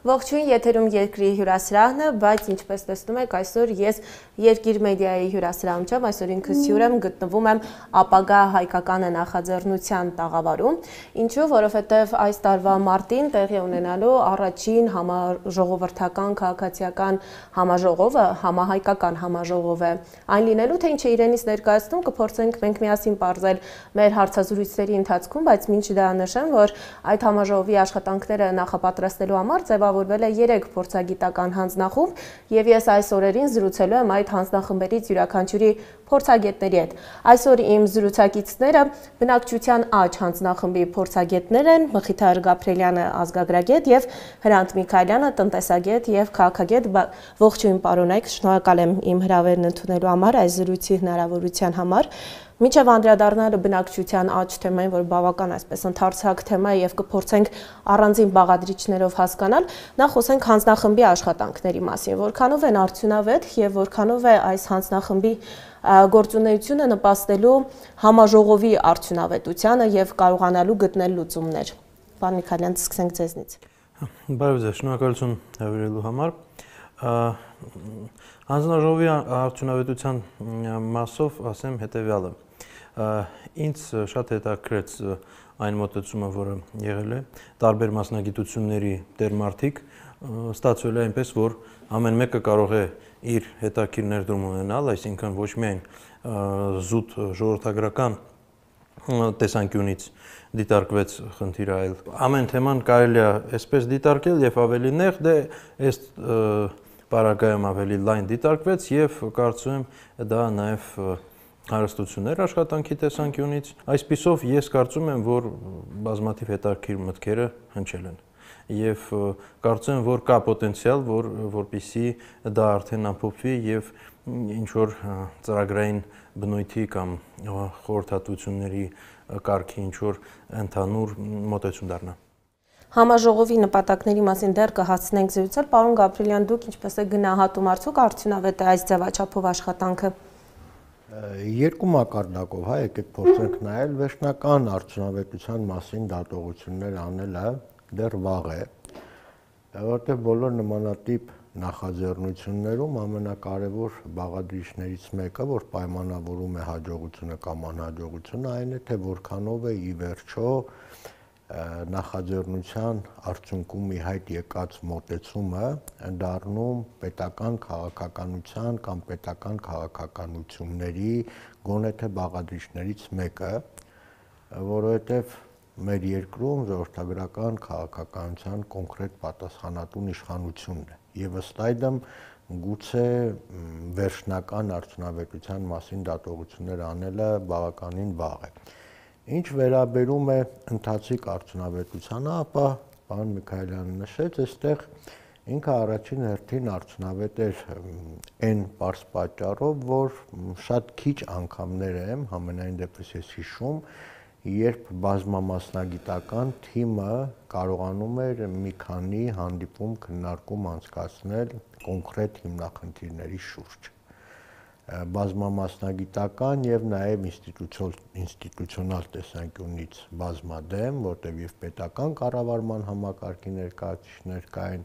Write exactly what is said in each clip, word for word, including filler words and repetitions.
Ողջույն, եթերում երկրի հյուրասրահն է, բայց ինչպես տեսնում եք, այսօր ես Երկիր մեդիայի հյուրասրահում չեմ, այսօր ինքս հյուր եմ, գտնվում եմ ապագա հայկական նախաձեռնության տաղավարում, ինչու, որովհետև այս տարվա մարտին տեղի ունենալու առաջին համաժողովրդական քաղաքացիական համաժողովը, համահայկական համաժողով է այն լինելու, թե ինչ է իրենից ներկայացնում, կփորձենք մենք միասին պարզել մեր հարցազրույցների ընթացքում, բայց մինչ դա նշեմ, որ այդ համաժողովի աշխատանքները նախապատրաստելու համար ձևավորվել է երեք փորձագիտական հանձնախումբ եւ ես այս օրերին զրուցելու եմ այդ հանձնախմբերից յուրաքանչյուրի փորձագետների հետ։ Այսօր իմ զրուցակիցները բնակչության աճ հանձնախմբի փորձագետներ են Մխիթար Գաբրելյանը, ազգագրագետ եւ Հրանտ Միքայելյանը, տնտեսագետ եւ քաղաքագետ։ Ողջույն պարոնայք, շնորհակալ եմ իմ հրավերն ընդունելու համար, այս զրույցի հնարավորության համար։ Մինչև անդրադառնալը բնակչության աճ թեմային, որ բավական այսպես ընդարձակ թեմա է եւ կփորձենք առանձին բաղադրիչներով հասկանալ, նախ խոսենք հանձնախմբի աշխատանքների մասին, որքանով են արդյունավետ եւ որքանով է այս հանձնախմբի գործունեությունը նպաստելու համաժողովի արդյունավետությանը եւ կարողանալու գտնել լուծումներ։ Պարոն Միքայելյան, սկսենք ձեզնից։ Բարև ձեզ, շնորհակալություն հավելելու համար։ Հանձնաժողովի արդյունավետության մասով ասեմ հետեւյալը։ Ինձ շատ հետաքրեց այն մոտեցումը, որը եղել է տարբեր մասնագիտությունների դերմարտիկ, ստացվել է այնպես, որ ամեն մեկը կարող է իր հետաքրքիր ներդրում ունենալ, այսինքն ոչ միայն զուտ ժողովրդագրական տեսանկյունից դիտարկվեց խնդիրը, այլ ամեն թեման կարելի է այսպես դիտարկել եւ ավելի նեղ, դե այս պարագայում ավելի լայն դիտարկվեց եւ կարծում եմ դա նաեւ հարստություններ աշխատանքի տեսանկյունից, այսպիսով ես կարծում եմ, որ բազմաթիվ հետաքրքիր մտքերը հնչել են եւ կարծում եմ, որ կա պոտենցիալ, որ որպեսզի դա արդեն ամփոփվի եւ ինչ որ ծրագրային բնույթի կամ խորհրդատվությունների կարգի ինչ որ ընդհանուր մոտեցում դառնա։ Համաժողովի նպատակների մասին դեռ կհասցնենք զրուցել, պարոն Գաբրելյան, դուք ինչպես եք գնահատում արդյոք արդյունավետ է այս ձևաչափով աշխատանքը։ Երկու մակարդակով, հա, եկեք փորձենք նայել, վերջնական արդյունավետության մասին դատողություններ անելը դեռ վաղ է, որտեղ բոլոր նմանատիպ նախաձեռնություններում ամենակարևոր բաղադրիչներից մեկը, որ պայմանավորում է հաջողությունը կամ անհաջողությունը, այն է, թե որքանով է ի վերջո նախաձեռնության արդյունքում ի հայտ եկած մոտեցումը դառնում պետական քաղաքականության կամ պետական քաղաքականությունների գոնե թե բաղադրիչներից մեկը, որովհետև մեր երկրում ժողովրդագրական քաղաքականության կոնկրետ պատասխանատուն իշխանությունն է եւ ըստ այդմ գուցե վերջնական արդյունավետության մասին դատողություններ անելը բավականին վաղ է։ Ինչ վերաբերում է ընթացիկ արդյունավետությանը, ապա պարոն Միքայելյանը նշեց, այստեղ ինքը առաջին հերթին արդյունավետ էր այն պարզ պատճառով, որ շատ քիչ անգամներ եմ, համենայն դեպս ես հիշում, երբ բազմամասնագիտական թիմը կարողանում էր մի քանի հանդիպում քննարկում անցկացնել կոնկրետ հիմնախնդիրների շուրջ։ Բազմամասնագիտական եւ նաեւ ինստիտուցիոնալ տեսանկյունից բազմադեմ, որտեղ եւ պետական կառավարման համակարգի ներկայացուցիչներ կային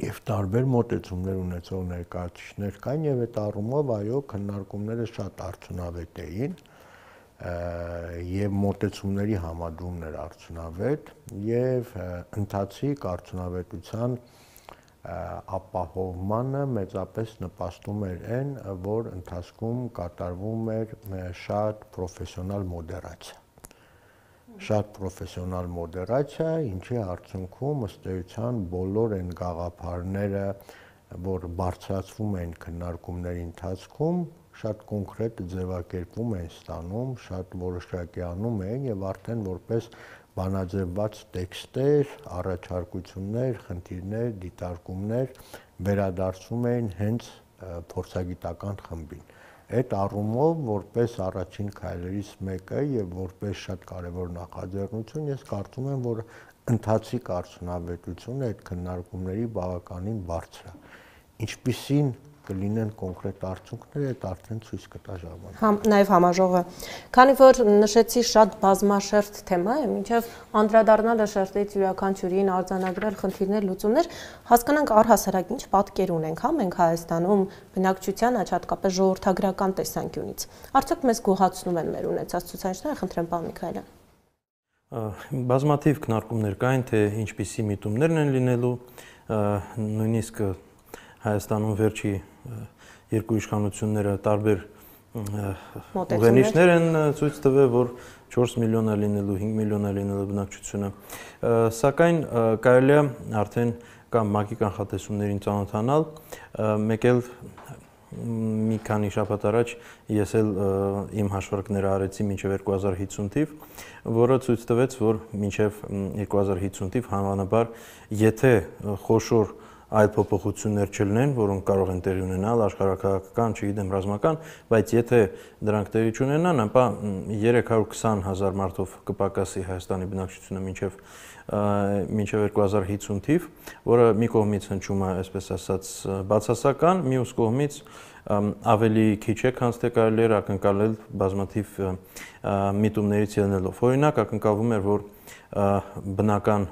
եւ տարբեր մոտեցումներ ունեցող ներկայացուցիչներ կային եւ այդ առումով այո քննարկումները շատ արդյունավետ էին եւ մոտեցումների համադրումն էր արդյունավետ եւ ընթացիկ արդյունավետության ապահովմանը մեծապես նպաստում էր այն, որ ընթացքում կատարվում էր շատ պրոֆեսիոնալ մոդերացիա։ Շատ պրոֆեսիոնալ մոդերացիա, ինչի արդյունքում ըստ էության բոլոր այն գաղափարները, որ բարձրացվում են քննարկումների ընթացքում, շատ կոնկրետ ձևակերպում են ստանում, շատ որոշակիանում են եւ արդեն որպես բանաձևված տեքստեր, առաջարկություններ, խնդիրներ, դիտարկումներ վերադարձում էին հենց փորձագիտական խմբին։ Այդ առումով որպես առաջին քայլերից մեկը եւ որպես շատ կարեւոր նախաձեռնություն ես կարծում եմ, որ ընթացիկ արդյունավետությունը այդ քննարկումների բավականին բարձր է։ Ինչպիսին կլինեն կոնկրետ արդյունքները, այդ արդեն ցույց կտա ժամանակ։ Համ նաև համաժողովը։ Քանի որ նշեցի շատ բազմաշերտ թեմա է, մինչև անդրադառնալը շերտից յուրաքանչյուրին արձանագրել խնդիրներ, լուծումներ, հասկանանք առհասարակ ինչ պատկեր ունենք, հա մենք Հայաստանում բնակչության աճ հատկապես ժողովրդագրական տեսանկյունից։ Արդյոք մեզ գոհացնում են մեր ունեցած ցուցանիշները, խնդրեմ պարոն Միքայելյան։ Բազմաթիվ քննարկումներ կային, թե ինչպիսի միտումներն են լինելու, նույնիսկ Հայաստանում վերջի երկու իշխանությունները տարբեր ուղենիշներ են ցույց տվել, որ չորս միլիոն է լինելու, հինգ միլիոն է լինելու բնակչությունը, սակայն կարելի է արդեն կամ ՄԱԿ-ի կանխատեսումներին ծանոթանալ, մեկ էլ մի քանի շաբաթ առաջ ես էլ իմ հաշվարկները արեցի մինչև երկու հազար հիսուն թիվ, որը ցույց տվեց, որ մինչև երկու հազար հիսուն թիվ հավանաբար, եթե խոշոր այլ փոփոխություններ չլինեն, որոնք կարող են տեղի ունենալ աշխարհաքաղաքական, չգիտեմ, ռազմական, բայց եթե դրանք տեղի չունենան, ապա երեք հարյուր քսան հազար մարդով կպակասի Հայաստանի բնակչությունը մինչև մինչև երկու հազար հիսուն թիվ, որը մի կողմից հնչում է, այսպես ասած, բացասական, մյուս կողմից ավելի քիչ է, քան թե կարելի էր ակնկալել բազմաթիվ միտումներից ելնելով։ Օրինակ, ակնկալվում էր, որ բնական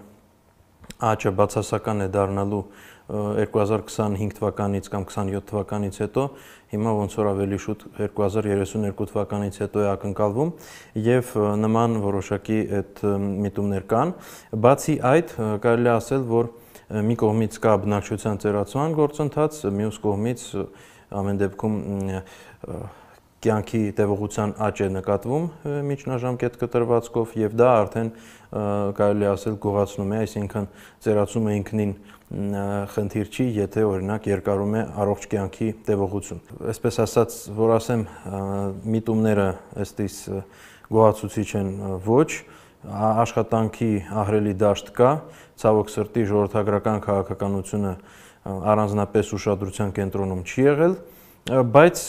աճը բացասական է դառնալու երկու հազար քսանհինգ թվականից կամ քսանյոթ թվականից հետո, հիմա ոնց որ ավելի շուտ երկու հազար երեսուն երկու թվականից հետո է ակնկալվում եւ նման որոշակի այդ միտումներ կան։ Բացի այդ, կարելի է ասել, որ մի կողմից կա բնակչության ծերացման գործընթաց, մյուս կողմից ամեն դեպքում կյանքի տևողության աճ է նկատվում միջնաժամկետ կտրվածքով եւ դա արդեն կարելի ասել գողացնում է, այսինքն ծերացումը ինքնին խնդիր չի, եթե օրինակ երկարում է առողջ կյանքի տևողություն։ Այսպես ասած, որ ասեմ, միտումները ըստիս գոհացուցիչ են ոչ, աշխատանքի ահռելի դաշտ կա, ցավոք սրտի ժողովրդագրական քաղաքականությունը առանձնապես ուշադրության կենտրոնում չի եղել, բայց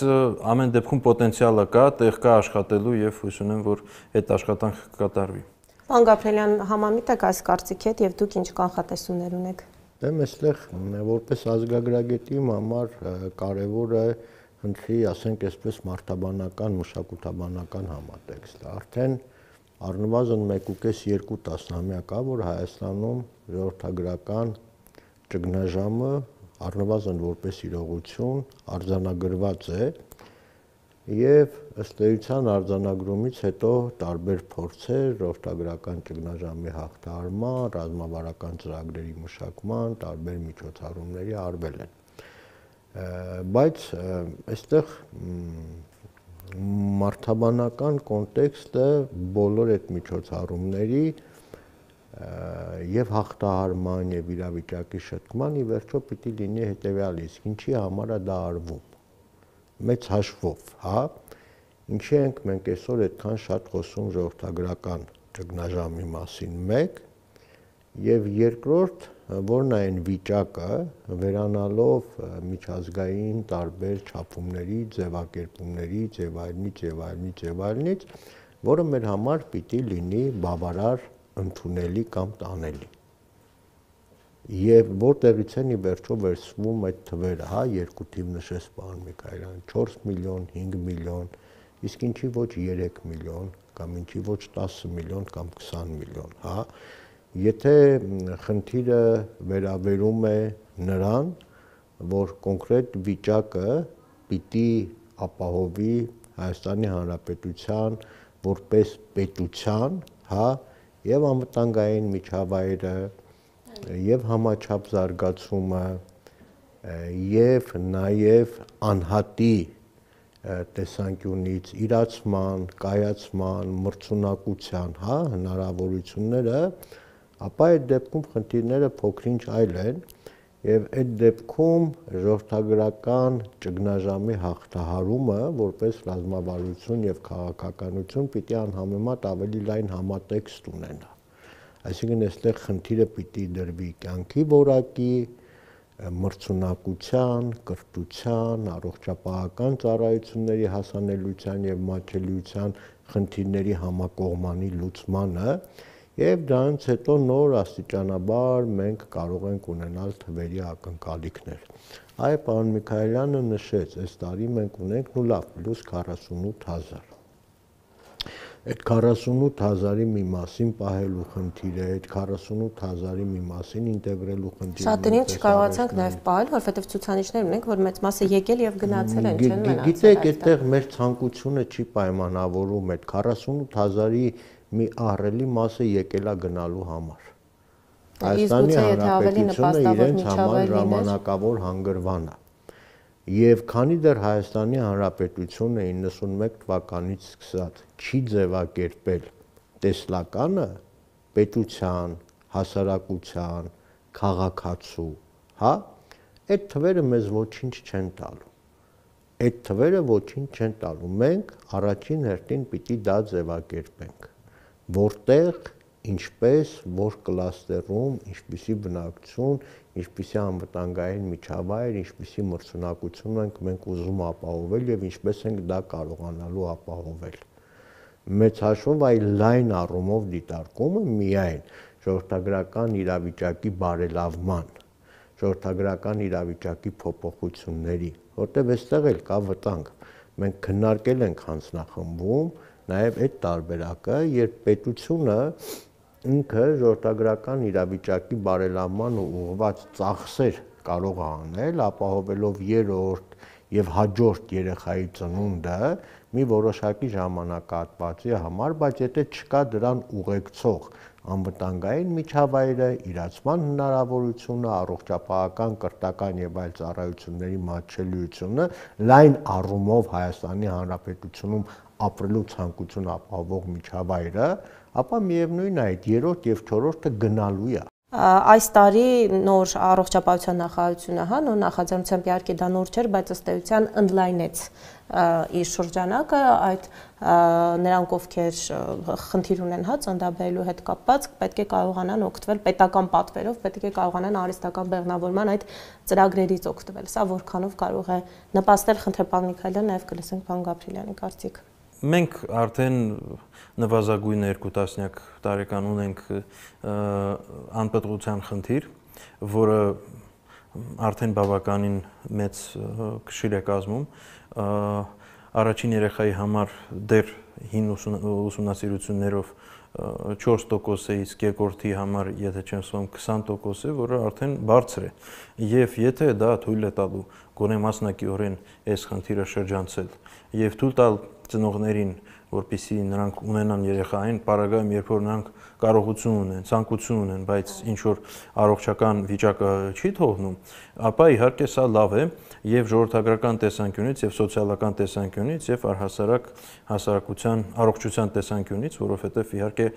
ամեն դեպքում պոտենցիալը կա, տեղ կա աշխատելու եւ հույս ունեմ, որ այդ աշխատանքը կկատարվի։ Պարոն Գաբրելյան, համամիտ եք այս կարծիքի հետ եւ դուք ինչ կանխատեսումներ ունեք։ Դե այստեղ որպես ազգագրագետի համար կարևոր է հնչի, ասենք այսպես, մարդաբանական, մշակութաբանական համատեքստը։ Արդեն առնվազն մեկ ու կես երկու տասնամյակ կա, որ Հայաստանում ժողովրդագրական ճգնաժամը առնվազն որպես իրողություն արձանագրված է եւ ըստ էության արձանագրումից հետո տարբեր փորձեր ժողովրդագրական ճգնաժամի հաղթահարման, ռազմավարական ծրագրերի մշակման, տարբեր միջոցառումների արվել են։ Բայց այստեղ մարդաբանական կոնտեքստը բոլոր այդ միջոցառումների եւ հաղթահարման եւ իրավիճակի շտկման ի վերջո պիտի լինի հետեւյալը, իսկ ինչի համար է դա արվում։ Մեծ հաշվով, հա, ինչի ենք մենք այսօր այդքան շատ խոսում ժողովրդագրական ճգնաժամի մասին, մեկ, եւ երկրորդ, որն է այն վիճակը, վերանալով միջազգային տարբեր չափումների, ձևակերպումներից եւ այլնից եւ այլնից եւ այլնից, որը մեր համար պիտի լինի բավարար ընդունելի կամ տանելի։ Եվ որտեղից են ի վերջո վերցվում այդ թվերը, հա, երկու թիվ նշեց պարոն Միքայելյան, չորս միլիոն, հինգ միլիոն, իսկ ինչի ոչ երեք միլիոն, կամ ինչի ոչ տասը միլիոն կամ քսան միլիոն, հա։ Եթե խնդիրը վերաբերում է նրան, որ կոնկրետ վիճակը պիտի ապահովի Հայաստանի Հանրապետության որպես պետության, հա, եւ անվտանգային միջավայրը, եւ համաչափ զարգացումը, եւ նաեւ անհատի տեսանկյունից իրացման, կայացման, մրցունակության, հա, հնարավորությունները, ապա այդ դեպքում խնդիրները փոքրինչ այլ են եւ այդ դեպքում ժողովրդագրական ճգնաժամի հաղթահարումը որպես ռազմավարություն եւ քաղաքականություն պիտի անհամեմատ ավելի լայն համատեքստ ունենա։ Այսինքն այստեղ խնդիրը պիտի դրվի կյանքի որակի, մրցունակության, կրթության, առողջապահական ծառայությունների հասանելիության եւ մատչելիության խնդիրների համակողմանի լուծմանը Եվ դրանից հետո նոր աստիճանաբար մենք կարող ենք ունենալ թվերի ակնկալիքներ։ Այ պարոն Միքայելյանը նշեց, այս տարի մենք ունենք նու լավ պլյուս քառասունութ հազար։ Այդ քառասունութ հազարի մի մասին պահելու խնդիր է, այդ քառասունութ հազարի մի մասին ինտեգրելու խնդիր է։ Շատերին չկարողացանք նաև պահել, որովհետև ցուցանիշներ ունենք, որ մեծ մասը եկել եւ գնացել են, չեն մնացել։ Գիտեք, այդտեղ մեր ցանկությունը չի պայմանավորում այդ քառասունութ հազարի մի ահռելի մասը եկելա գնալու համար։ Հայաստանի Հանրապետությունը իրենց համար ժամանակավոր հանգրվան է։ Եվ քանի դեռ Հայաստանի Հանրապետությունը իննսունմեկ թվականից սկսած չի ձևակերպել տեսլականը պետության, հասարակության, քաղաքացու, հա, այդ թվերը մեզ ոչինչ չեն տալու։ Այդ թվերը ոչինչ չեն տալու։ Մենք առաջին հերթին պիտի դա ձևակերպենք, որտեղ, ինչպես, որ կլաստերում, ինչպիսի բնակչություն, ինչպիսի անվտանգային միջավայր, ինչպիսի մրցունակություն ենք մենք ուզում ապահովել եւ ինչպես ենք դա կարողանալու ապահովել։ Մեծ հաշվով այ լայն առումով դիտարկումը միայն ժողովրդագրական իրավիճակի բարելավման, ժողովրդագրական իրավիճակի փոփոխությունների, որտեղ այստեղ էլ կա վտանգ։ Մենք քննարկել ենք հանձնախմբում նաեւ այդ տարբերակը, երբ պետությունը ինքը ժողովրդագրական իրավիճակի բարելավման ուղղված ծախսեր կարող է անել, ապահովելով երրորդ եւ հաջորդ երեխայի ծնունդը մի որոշակի ժամանակահատվածի համար, բայց եթե չկա դրան ուղեկցող անվտանգային միջավայրը, իրացման հնարավորությունը, առողջապահական, կրթական եւ այլ ծառայությունների մատչելիությունը, լայն առումով Հայաստանի Հանրապետությունում ապրելու ցանկություն ապահովող միջավայրը, ապա միևնույն է այդ երրորդ եւ չորրորդը գնալու է։ Այս տարի նոր առողջապահության նախարարությունը, հա, նոր նախաձեռնությամբ իհարկե դա նոր չէր, բայց ըստ էության ընդլայնեց իր շրջանակը, այդ նրանք ովքեր խնդիր ունեն, հա, ծննդաբերելու հետ կապված, պետք է կարողանան օգտվել պետական պատվերով, պետք է կարողանան արհեստական բեղմնավորման այդ ծրագրերից օգտվել։ Սա որքանով կարող է նպաստել, խնդրեմ պարոն Միքայելյան, նաև կլսենք պարոն Գաբրիելյանի կարծիքը։ Մենք արդեն նվազագույն երկու տասնյակ տարեկան ունենք անպտղության խնդիր, որը արդեն բավականին մեծ քշիր է կազմում։ Առաջին երեխայի համար դեռ հին ուսումնասիրություններով չորս տոկոս է, իսկ երկրորդի համար, եթե չեմ սխալվում, քսան տոկոս է, որը արդեն բարձր է։ Եվ եթե դա թույլ է տալու գոնե մասնակիորեն այս խնդիրը շրջանցել եւ թույլ տալ ծնողներին, որպեսզի նրանք ունենան երեխային, պարագայում երբ որ նրանք կարողություն ունեն, ցանկություն ունեն, բայց ինչ որ առողջական վիճակը չի թողնում, ապա իհարկե սա լավ է եւ ժողովրդագրական տեսանկյունից եւ սոցիալական տեսանկյունից եւ առհասարակ հասարակության առողջության տեսանկյունից, որովհետեւ իհարկե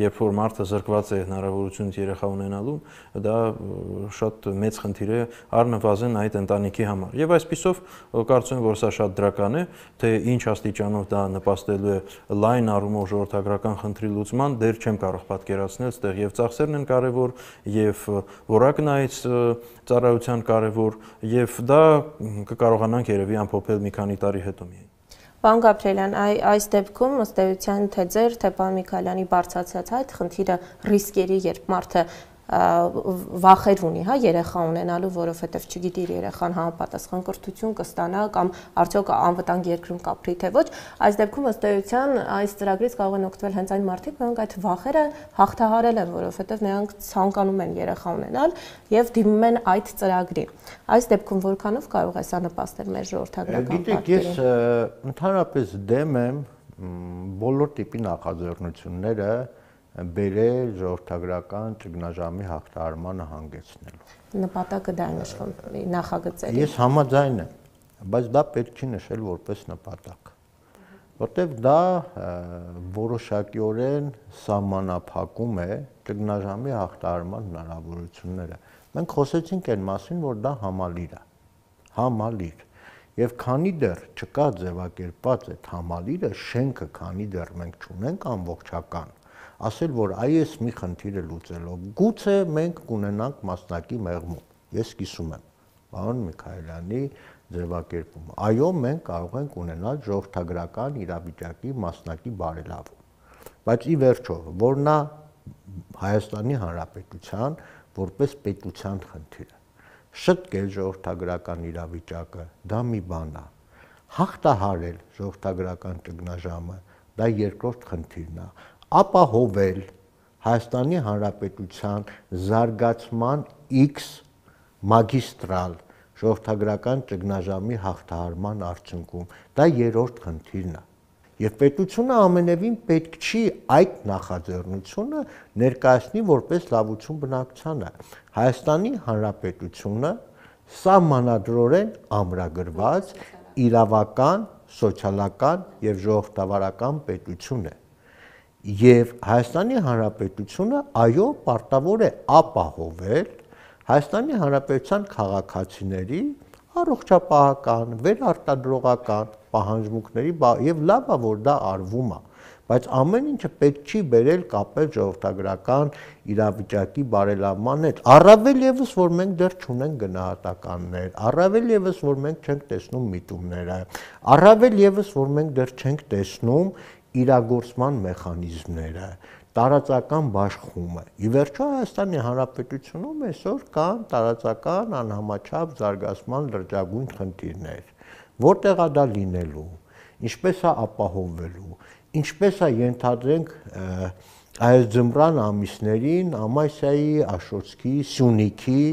երբ որ մարդը զրկված է հնարավորությունից երեխա ունենալու, դա շատ մեծ խնդիր է առնվազն այդ ընտանիքի համար։ Եվ այսպիսով կարծում եմ, որ սա շատ դրական է, թե ինչ աստիճանով դա նպաստելու է լայն առումով ժողովրդագրական խնդրի լուծման, դեռ չեմ կարող պատկերացնել, այստեղ եւ ծախսերն են կարեւոր, եւ որակն այս ծառայության կարեւոր, եւ դա կկարողանանք երևի ամփոփել մի քանի տարի հետո միայն։ Պարոն Գաբրիելյան, այս դեպքում ըստ էության թե ձեր, թե պարոն Միքայելյանի բարձրացած այդ խնդիրը ռիսկերի, երբ մարդը վախեր ունի, հա, երեխա ունենալու, որովհետև չգիտի իր երեխան համապատասխան կրթություն կստանա կամ արդյոք անվտանգ երկրում կապրի թե ոչ, այս դեպքում ըստ էության այս ծրագրից կարող են օգտվել հենց այն մարդիկ, որոնք այդ վախերը հաղթահարել են, որովհետև նրանք ցանկանում են երեխա ունենալ եւ դիմում են այդ ծրագրին։ Այս դեպքում որքանով կարող է սա նպաստել մեր ժողովրդագրական պատկերին։ Գիտեք, ես ընդհանրապես դեմ եմ բոլոր տիպի նախաձեռնությունները բերել ժողովրդագրական ճգնաժամի հաղթահարմանը հանգեցնելու։ Նպատակը դա է նշվում նախագծերի։ Ես համաձայն եմ, բայց դա պետք չի նշել որպես նպատակ, որտեղ դա որոշակիորեն սահմանափակում է ճգնաժամի հաղթահարման հնարավորությունները։ Մենք խոսեցինք այն մասին, որ դա համալիր է, համալիր։ Եվ քանի դեռ չկա ձևակերպված այդ համալիրը, շենքը քանի դեռ մենք չունենք ամբողջական, ասել, որ այս մի խնդիրը լուծելով, գուցե մենք կունենանք մասնակի մեղմում։ Ես կիսում եմ պարոն Միքայելյանի ձևակերպումը։ Այո, մենք կարող ենք ունենալ ժողովրդագրական իրավիճակի մասնակի բարելավում։ Բայց ի վերջո, որ նա Հայաստանի Հանրապետության որպես պետության խնդիրը։ Շտկել ժողովրդագրական իրավիճակը, դա մի բան է։ Հաղթահարել ժողովրդագրական ճգնաժամը, դա երկրորդ խնդիրն է։ Ապահովել Հայաստանի Հանրապետության զարգացման X մագիստրալ ժողովրդագրական ճգնաժամի հաղթահարման արդյունքում, դա երրորդ խնդիրն է։ Եվ պետությունը ամենևին պետք չի այդ նախաձեռնությունը ներկայացնի որպես լավություն բնակչությանը։ Հայաստանի Հանրապետությունը սահմանադրորեն ամրագրված իրավական, սոցիալական եւ ժողովրդավարական պետություն է։ Եվ Հայաստանի Հանրապետությունը այո պարտավոր է ապահովել Հայաստանի Հանրապետության քաղաքացիների առողջապահական, վերարտադրողական պահանջմունքների եւ լավ է որ դա արվում է, բայց ամեն ինչը պետք չի բերել կապել ժողովրդագրական իրավիճակի բարելավման հետ։ Առավել եւս որ մենք դեռ չունենք գնահատականներ, առավել եւս որ մենք չենք տեսնում միտումները, առավել եւս որ մենք դեռ չենք տեսնում իրագործման մեխանիզմները, տարածական բաշխումը։ Ի վերջո Հայաստանի Հանրապետությունում այսօր կան տարածական անհամաչափ զարգացման լրջագույն խնդիրներ, որտեղ է դա լինելու, ինչպես է ապահովվելու, ինչպես է ենթադրենք այս ձմռան ամիսներին Ամասիայի, Աշոտսկի, Սյունիքի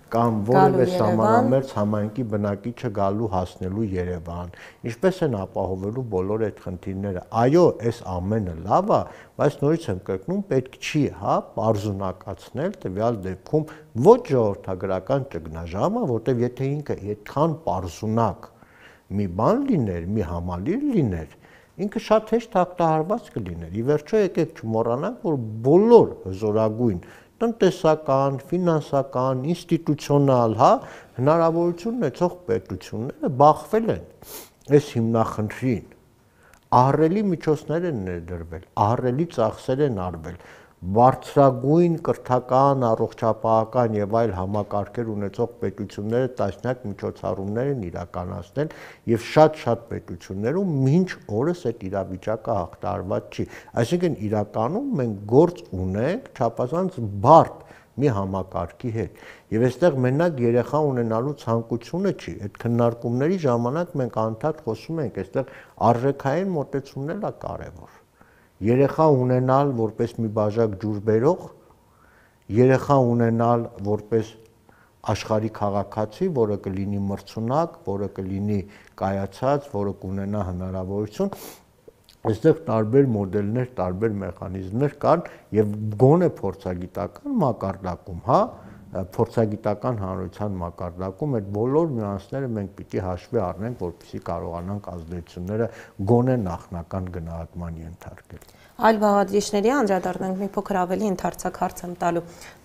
կամ որևէ սահմանամերձ համայնքի բնակիչը գալու հասնելու Երևան, ինչպես են ապահովելու բոլոր այդ խնդիրները։ Այո, այս ամենը լավ է, բայց նորից եմ կրկնում, պետք չի, հա, պարզունակացնել տվյալ դեպքում ոչ ժողովրդագրական ճգնաժամը, որտեղ եթե ինքը այդքան պարզունակ մի բան լիներ, մի համալիր լիներ, ինքը շատ հեշտ հաղթահարված կլիներ։ Ի վերջո եկեք չմոռանանք, որ բոլոր հզորագույն տնտեսական, ֆինանսական, ինստիտուցիոնալ, հա, հնարավորություն ունեցող պետությունները բախվել են այս հիմնախնդրին։ Ահռելի միջոցներ են ներդրվել, ահռելի ծախսեր են արվել, բարձրագույն կրթական, առողջապահական եւ այլ համակարգեր ունեցող պետությունները տասնյակ միջոցառումներ են իրականացնել եւ շատ-շատ պետություններում մինչ օրս այդ իրավիճակը հաղթահարված չի։ Այսինքն իրականում մենք գործ ունենք չափազանց բարդ մի համակարգի հետ։ Եվ այստեղ մենակ երեխա ունենալու ցանկությունը չի, այդ քննարկումների ժամանակ մենք անդադ խոսում ենք, այստեղ արժեքային մոտեցումն է կարևոր։ Երեխա ունենալ որպես մի բաժակ ջուր բերող, երեխա ունենալ որպես աշխարհի քաղաքացի, որը կլինի մրցունակ, որը կլինի կայացած, որը կունենա հնարավորություն, այստեղ տարբեր մոդելներ, տարբեր մեխանիզմներ կան եւ գոնե փորձագիտական մակարդակում, հա, փորձագիտական հանրության մակարդակում այդ բոլոր նյուանսները մենք պիտի հաշվի առնենք, որպեսզի կարողանանք ազդեցությունները գոնե նախնական գնահատման ենթարկել։ Այլ բաղադրիչների անդրադառնանք, մի փոքր ավելի ընդարձակ հարց եմ տալու։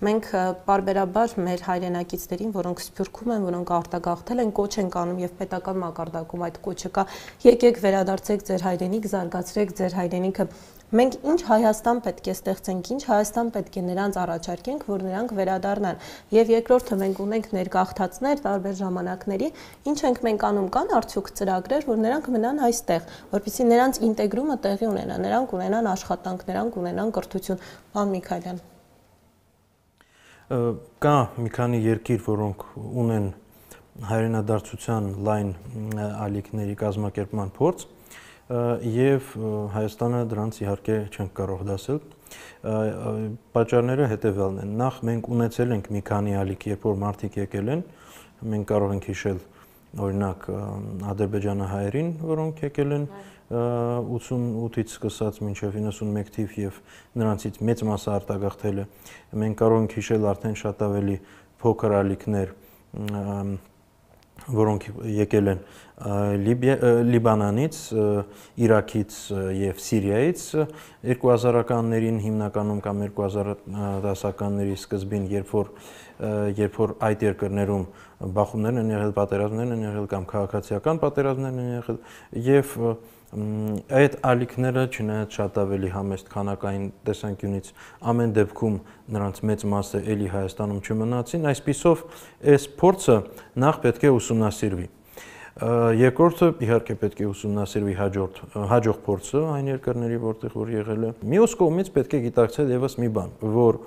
Մենք պարբերաբար մեր հայրենակիցներին, որոնք սփյուռքում են, որոնք արտագաղթել են, կոչ են անում եւ պետական մակարդակում այդ կոչը կա, եկեք վերադարձեք ձեր հայրենիք, զարգացրեք ձեր հայրենիքը։ Մենք ինչ Հայաստան պետք է ստեղծենք, ինչ Հայաստան պետք է նրանց առաջարկենք, որ նրանք վերադառնան։ Եվ երկրորդը մենք ունենք ներգաղթածներ տարբեր ժամանակների, ինչ ենք մենք անում, կան արդյոք ծրագրեր, որ նրանք մնան այստեղ, որպեսզի նրանց ինտեգրումը տեղի ունենա, նրանք ունենան աշխատանք, նրանք ունենան կրթություն։ Պարոն Միքայելյան։ Կա մի քանի երկիր, որոնք ունեն հայրենադարձության լայն ալիքների կազմակերպման փորձ, եւ Հայաստանը դրանց իհարկե չենք կարող դասել։ Պատճառները հետեւյալն են։ Նախ մենք ունեցել ենք մի քանի ալիք, երբ որ մարդիկ եկել են, մենք կարող ենք հիշել օրինակ ադրբեջանահայերին, որոնք եկել են ութսունութից սկսած մինչև իննսունմեկ թիվ եւ նրանցից մեծ մասը արտագաղթել է։ Մենք կարող ենք հիշել արդեն շատ ավելի փոքր ալիքներ, որոնք եկել են Լիբանանից, Իրաքից եւ Սիրիայից երկու հազարականներին հիմնականում կամ երկու հազար դասականների սկզբին, երբ որ երբ որ այդ երկրներում բախումներ են եղել, պատերազմներ են եղել կամ քաղաքացիական պատերազմներ են եղել եւ այդ ալիքները չնայած շատ ավելի համեստ քանակային տեսանկյունից ամեն դեպքում նրանց մեծ մասը էլի Հայաստանում չմնացին, այսպիսով այս փորձը նախ պետք է ուսումնասիրվի։ Երկրորդը իհարկե պետք է ուսումնասիրվի հաջորդ հաջող փորձը այն երկրների, որտեղ որ եղել է։ Մյուս կողմից պետք է գիտակցել եւս մի բան, որ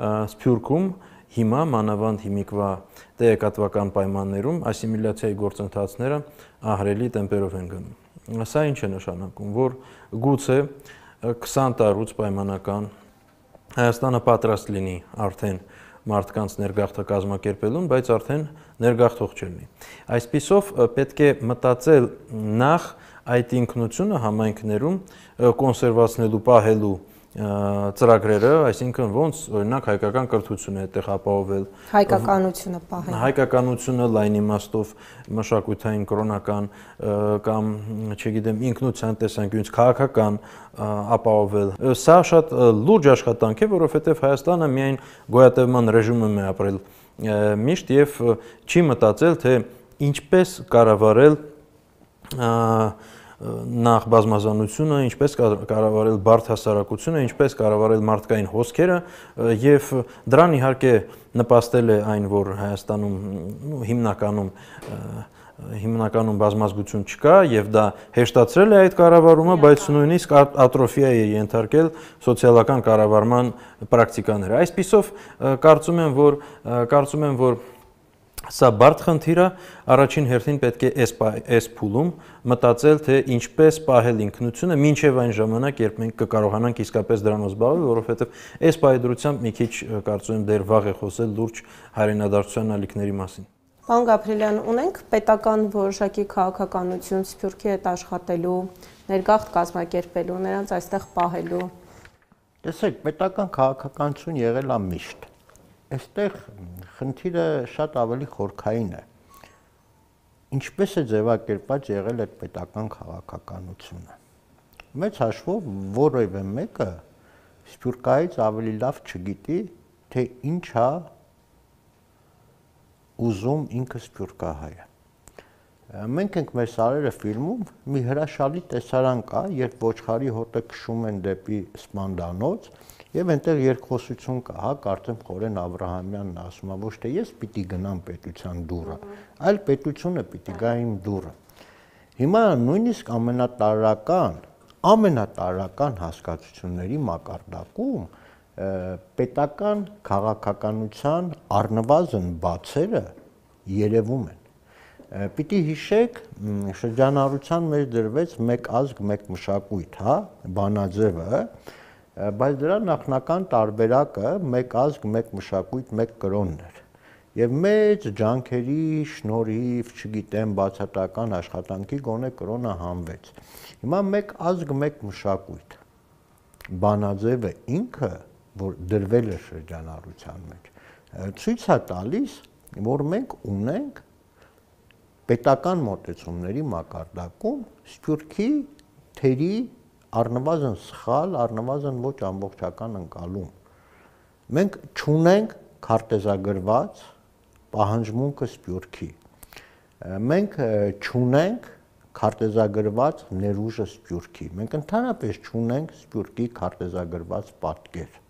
Սփյուռքում հիմա մանավանդ հիմիկվա տեղեկատվական պայմաններում ասիմիլյացիայի գործընթացները ահռելի տեմպերով են գնում։ Սա ինչ է նշանակում, որ գուցե քսան տարուց պայմանական Հայաստանը պատրաստ լինի արդեն մարդկանց ներգաղթը կազմակերպելուն, բայց արդեն ներգաղթող չլինի։ Այսպիսով պետք է մտածել նախ այդ ինքնությունը համայնքներում կոնսերվացնելու, պահելու ծրագրերը, այսինքն ոնց օրինակ հայկական կրթությունը այդտեղ ապահովել, հայկականությունը պահել, հայկականությունը լայն իմաստով մշակութային, կրոնական կամ, չգիտեմ, ինքնության տեսանկյունից քաղաքական ապահովել։ Սա շատ լուրջ աշխատանք է, որովհետև Հայաստանը միայն գոյատևման ռեժիմում է ապրել միշտ եւ չի մտածել, թե ինչպես կառավարել նախ բազմազանությունը, ինչպես կառավարել բարդ հասարակությունը, ինչպես կառավարել մարդկային հոսքերը եւ դրան իհարկե նպաստել է այն, որ Հայաստանում հիմնականում հիմնականում բազմազգություն չկա եւ դա հեշտացրել է այդ կառավարումը, բայց նույնիսկ ատրոֆիա է ենթարկել սոցիալական կառավարման պրակտիկաները։ Այսպիսով կարծում եմ, որ կարծում եմ, որ Սա բարդ խնդիր է, առաջին հերթին պետք է այս փուլում մտածել, թե ինչպես պահել ինքնությունը մինչև այն ժամանակ, երբ մենք կկարողանանք իսկապես դրանով զբաղվել, որովհետև այս պայդրությամբ մի քիչ կարծում եմ դեռ վաղ է խոսել լուրջ հայրենադարձության ալիքների մասին։ Պարոն Գաբրիելյան, ունենք պետական որոշակի քաղաքականություն Սփյուռքի հետ աշխատելու, ներգաղթ կազմակերպելու, նրանց այստեղ պահելու։ Տեսեք, պետական քաղաքականություն եղել է միշտ։ Այստեղ խնդիրը շատ ավելի խորքային է։ Ինչպես է ձևակերպված եղել այդ պետական քաղաքականությունը։ Մեծ հաշվով որևէ մեկը Սփյուռքայից ավելի լավ չգիտի, թե ինչ է ուզում ինքը սփյուռքահայը։ Մենք ենք մեր սարերը ֆիլմում մի հրաշալի տեսարան կա, երբ ոչխարի հոտը քշում են դեպի սպանդանոց եւ այնտեղ երկխոսություն կա, հա, կարծեմ Խորեն Աբրահամյանն ասում է, ոչ թե ես պիտի գնամ պետության դուռը, այլ պետությունը պիտի գա իմ դուռը։ Հիմա նույնիսկ ամենատարրական, ամենատարրական հասկացությունների մակարդակում պետական քաղաքականության առնվազն բացերը երևում են։ Պիտի հիշեք, շրջանառության մեջ դրվեց մեկ ազգ, մեկ մշակույթ, հա, բանաձևը, բայց դրա նախնական տարբերակը մեկ ազգ, մեկ մշակույթ, մեկ կրոնն էր։ Եվ մեծ ջանքերի շնորհիվ, չգիտեմ, բացատական աշխատանքի գոնե կրոնը հանվեց։ Հիմա մեկ ազգ, մեկ մշակույթ։ Բանաձևը ինքը, որ դրվել է շրջանառության մեջ, ցույց է տալիս, որ մենք ունենք պետական մոտեցումների մակարդակում Սփյուռքի թերի առնվազն սխալ, առնվազն ոչ ամբողջական ընկալում։ Մենք չունենք քարտեզագրված պահանջմունքը Սփյուռքի։ Մենք չունենք քարտեզագրված ներուժը Սփյուռքի։ Մենք ընդհանրապես չունենք Սփյուռքի քարտեզագրված պատկեր։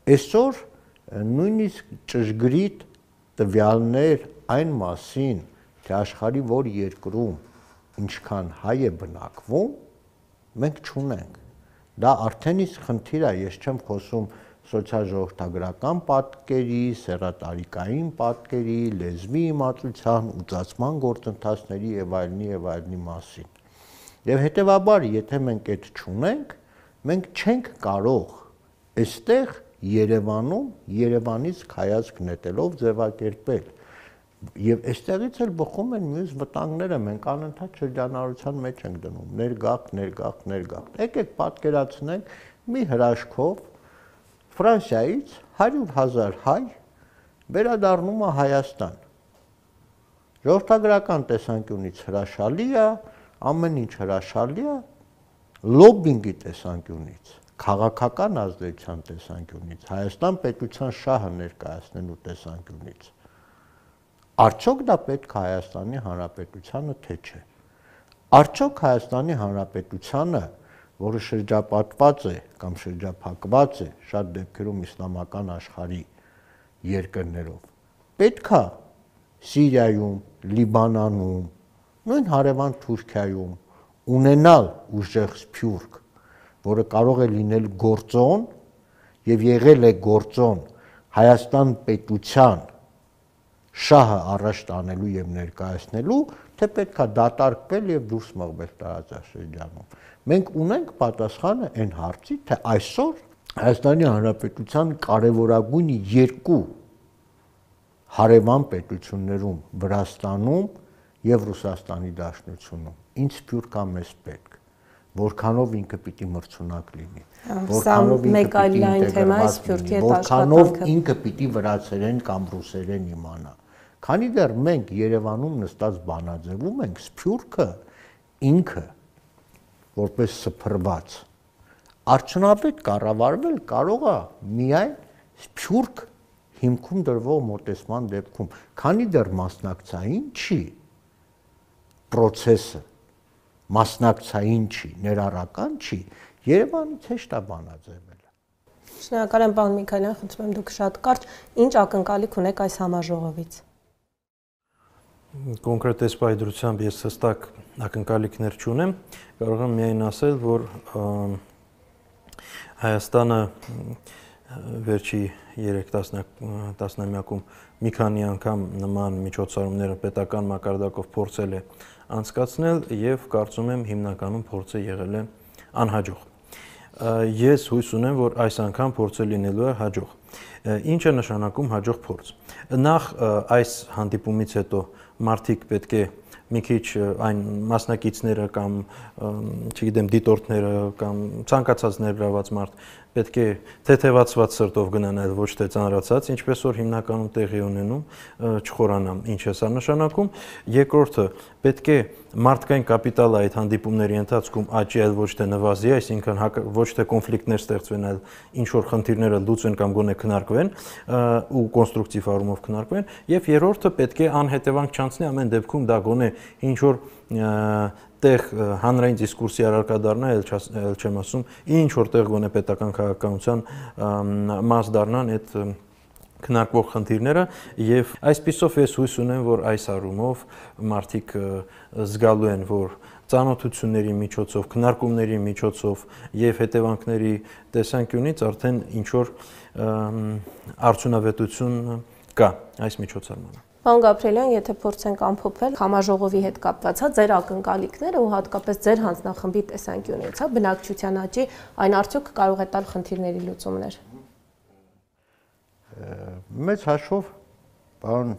Այսօր նույնիսկ ճշգրիտ տվյալներ այն մասին, թե աշխարհի որ երկրում ինչքան հայ է բնակվում, մենք չունենք։ Դա արդեն իսկ խնդիր է, ես չեմ խոսում սոցիալ-ժողովրդագրական պատկերի, սեռատարիկային պատկերի, լեզվի իմացության, ուծացման գործընթացների եւ այլնի եւ այլնի մասին։ Եվ հետեւաբար, եթե մենք այդ չունենք, մենք չենք կարող այստեղ Երևանում Երևանից հայացք նետելով ձևակերպել։ Եվ այստեղից էլ բխում են մյուս վտանգները, մենք անընդհատ շրջանառության մեջ ենք դնում, ներգաղթ, ներգաղթ, ներգաղթ։ Եկեք պատկերացնենք մի հրաշքով Ֆրանսիայից հարյուր հազար հայ վերադառնում է Հայաստան։ Ժողովրդագրական տեսանկյունից հրաշալի է, ամեն ինչ հրաշալի է, լոբինգի տեսանկյունից, քաղաքական ազդեցության տեսանկյունից, Հայաստան պետության շահը ներկայացնելու տեսանկյունից։ Արդյոք դա պետք է Հայաստանի Հանրապետությանը, թե չէ։ Արդյոք Հայաստանի Հանրապետությանը, որը շրջապատված է կամ շրջափակված է շատ դեպքերում իսլամական աշխարհի երկրներով, պետք է Սիրիայում, Լիբանանում, նույն հարևան Թուրքիայում ունենալ ուժեղ սփյուռք, որը կարող է լինել գործոն եւ եղել է գործոն Հայաստան պետության շահը առաջ տանելու եւ ներկայացնելու, թե պետքա դատարկվել եւ դուրս մղվել տարածաշրջանում։ Մենք ունենք պատասխանը այն հարցի, թե այսօր Հայաստանի Հանրապետության կարևորագույն երկու հարևան պետություններում Վրաստանում եւ Ռուսաստանի Դաշնությունում ինչ սփյուռք է մեզ պետք, որքանով ինքը պիտի մրցունակ լինի, որքանով ինքը պիտի ինտեգրված լինի, որքանով ինքը պիտի վրացերեն կամ ռուսերեն իմանա։ Քանի դեռ մենք Երևանում նստած բանաձևում ենք, սփյուռքը ինքը որպես սփռված արդյունավետ կառավարվել կարող է միայն սփյուռք հիմքում դրվող մոտեցման դեպքում, քանի դեռ մասնակցային չի process-ը, մասնակցային չի, ներառական չի, Երևանից հեշտ է բանաձևելը։ Շնորհակալ եմ, պարոն Միքայելյան, խնդրում եմ դուք շատ կարճ, ինչ ակնկալիք ունեք այս համաժողովից։ Կոնկրետ այս պայդրությամբ ես հստակ ակնկալիքներ չունեմ, կարող եմ միայն ասել, որ Հայաստանը վերջի երեք տասնամյակում մի քանի անգամ նման միջոցառումները պետական մակարդակով փորձել է անցկացնել եւ կարծում եմ հիմնականում փորձը եղել է անհաջող։ Ես հույս ունեմ, որ այս անգամ փորձը լինելու է հաջող։ Ինչ է նշանակում հաջող փորձ։ Նախ այս հանդիպումից հետո մարդիկ պետք է մի քիչ այն մասնակիցները կամ չգիտեմ դիտորդները կամ ցանկացած ներգրաված մարդ պետք է թեթևացված սրտով գնան այլ ոչ թե ծանրացած, ինչպես որ հիմնականում տեղի ունենում, չխորանամ, ինչ է սա նշանակում։ Երկրորդը պետք է մարդկային կապիտալը այդ հանդիպումների ընթացքում աճի, այլ ոչ թե նվազի, այսինքն ոչ թե կոնֆլիկտներ ստեղծվեն, այլ ինչ որ խնդիրները լուծվեն կամ գոնե քննարկվեն ու կոնստրուկտիվ առումով քննարկվեն, եւ երրորդը պետք է անհետևանք չանցնի ամեն դեպքում դա գոնե ինչ որ տեղ հանրային դիսկուրսի առարկա դառնա, ել չեմ ասում, ինչ որ տեղ գոնե պետական քաղաքականության մաս դառնան այդ քննարկվող խնդիրները եւ այսպիսով ես հույս ունեմ, որ այս առումով մարդիկ զգալու են, որ ծանոթությունների միջոցով, քննարկումների միջոցով եւ հետևանքների տեսանկյունից արդեն ինչ որ արդյունավետություն կա այս միջոցառմանը։ Պարոն Գաբրիելյան, եթե փորձենք ամփոփել համաժողովի հետ կապված, հա, ձեր ակնկալիքները ու հատկապես ձեր հանձնախմբի տեսանկյունից, հա, բնակչության աճի, այն արդյոք կարող է տալ խնդիրների լուծումներ։ Մեծ հաշվով պարոն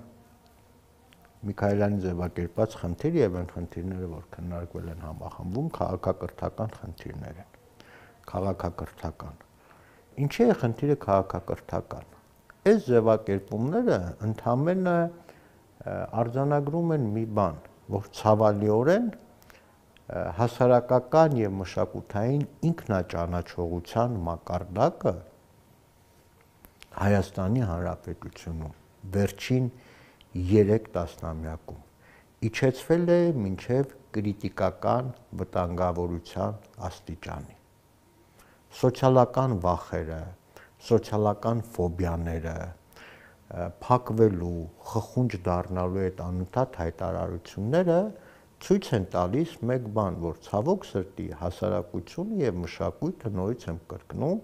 Միքայելյանի ձևակերպած խնդիրը եւ այն խնդիրները, որ քննարկվել են համախմբում, քաղաքակրթական խնդիրներ են։ Քաղաքակրթական։ Ինչի է խնդիրը քաղաքակրթական։ Այս ձևակերպումները ընդհանրապես արձանագրում են մի բան, որ ցավալիորեն հասարակական եւ մշակութային ինքնաճանաչողության մակարդակը Հայաստանի Հանրապետությունում վերջին երեք տասնամյակում իջեցվել է մինչև կրիտիկական վտանգավորության աստիճանի։ Սոցիալական վախերը, սոցիալական ֆոբիաները, փակվելու, խխունջ դառնալու այդ անընդհատ հայտարարությունները ցույց են տալիս մեկ բան, որ ցավոք սրտի հասարակությունը եւ մշակույթը նորից եմ կրկնում,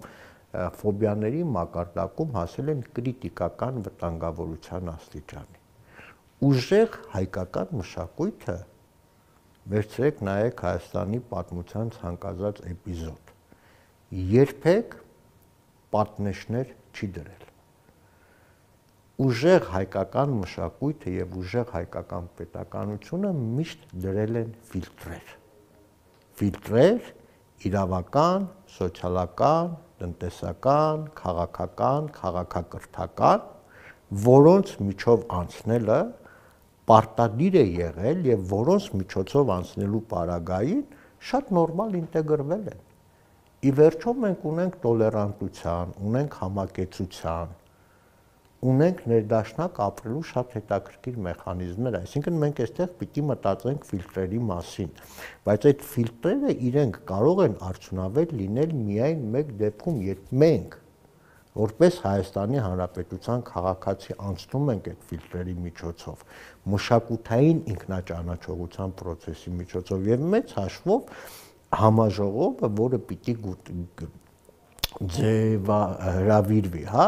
ֆոբիաների մակարդակում հասել են կրիտիկական վտանգավորության աստիճանի։ Ուժեղ հայկական մշակույթը վերցրեք նայեք Հայաստանի պատմության ցանկացած էպիզոդ։ Երբեք պատնեշներ չի դրել։ Ուժեղ հայկական մշակույթը եւ ուժեղ հայկական պետականությունը միշտ դրել են ֆիլտրեր։ Ֆիլտրեր իրավական, սոցիալական, տնտեսական, քաղաքական, քաղաքակրթական, որոնց միջով անցնելը պարտադիր է եղել եւ որոնց միջոցով անցնելու պարագային շատ նորմալ ինտեգրվել են։ Ի վերջո մենք ունենք տոլերանտության, ունենք համակեցության, ունենք ներդաշնակ ապրելու շատ հետաքրքիր մեխանիզմներ, այսինքն մենք այստեղ պիտի մտածենք ֆիլտրերի մասին, բայց այդ ֆիլտրերը իրենք կարող են արդյունավետ լինել միայն մեկ դեպքում, երբ մենք որպես Հայաստանի Հանրապետության քաղաքացի անցնում ենք այդ ֆիլտրերի միջոցով, մշակութային ինքնաճանաչողության process-ի միջոցով եւ մեծ հաշվով համաժողովը, որը պիտի ձևա հրավիրվի, հա,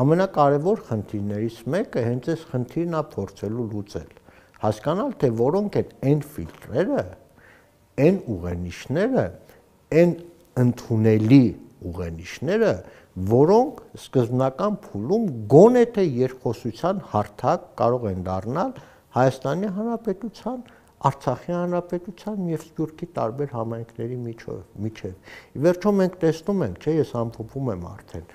ամենակարևոր խնդիրներից մեկը հենց այս խնդիրն է փորձելու լուծել, հասկանալ թե որոնք են այն ֆիլտրերը, այն ուղենիշները, այն ընդունելի ուղենիշները, որոնք սկզբնական փուլում գոնե թե երկխոսության հարթակ կարող են դառնալ Հայաստանի Հանրապետության, Արցախի Հանրապետության եւ Սփյուռքի տարբեր համայնքների միջև։ Ի վերջո մենք տեսնում ենք, չէ, ես ամփոփում եմ արդեն,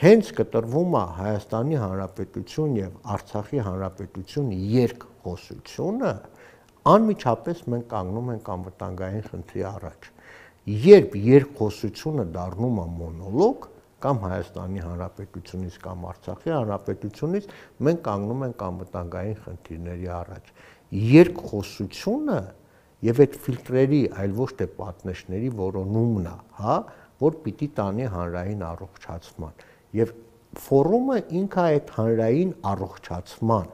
հենց կտրվում է Հայաստանի Հանրապետություն եւ Արցախի Հանրապետություն երկխոսությունը, անմիջապես մենք կանգնում ենք անվտանգային խնդրի առաջ։ Երբ երկխոսությունը դառնում է մոնոլոգ, կամ Հայաստանի Հանրապետությունից կամ Արցախի Հանրապետությունից, մենք կանգնում ենք անվտանգային խնդիրների առաջ։ Երկխոսությունը եւ այդ ֆիլտրերի, այլ ոչ թե պատնեշների որոնումն է, հա, որ պիտի տանի հանրային առողջացման։ Եվ ֆորումը ինքը այդ հանրային առողջացման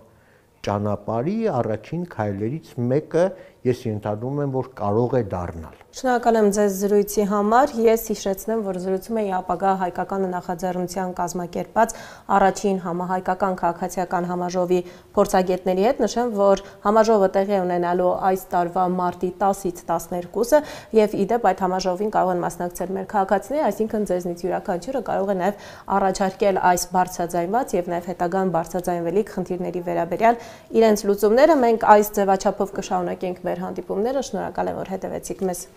ճանապարհի առաջին քայլերից մեկը ես ենթադրում եմ, որ կարող է դառնալ։ Շնորհակալ եմ ձեզ զրույցի համար։ Ես հիշեցնեմ, որ զրուցում էի ապագա հայկական նախաձեռնության կազմակերպած առաջին համահայկական քաղաքացիական համաժողովի փորձագետների հետ։ Նշեմ, որ համաժողովը տեղի է ունենալու այս տարվա մարտի տասից տասներկուսը եւ ի դեպ այդ համաժողովին կարող են մասնակցել մեր քաղաքացիները, այսինքն ձեզնից յուրաքանչյուրը կարող է նաեւ առաջարկել այս բարձրաձայնված եւ նաեւ հետագան բարձրաձայնվելիք խնդիրների վերաբերյալ իրենց լուծումները։ Մենք այս ձևաչափով կշարունակենք մեր հանդիպումները։ Շնորհակալ եմ, որ հետևեցիք մեզ։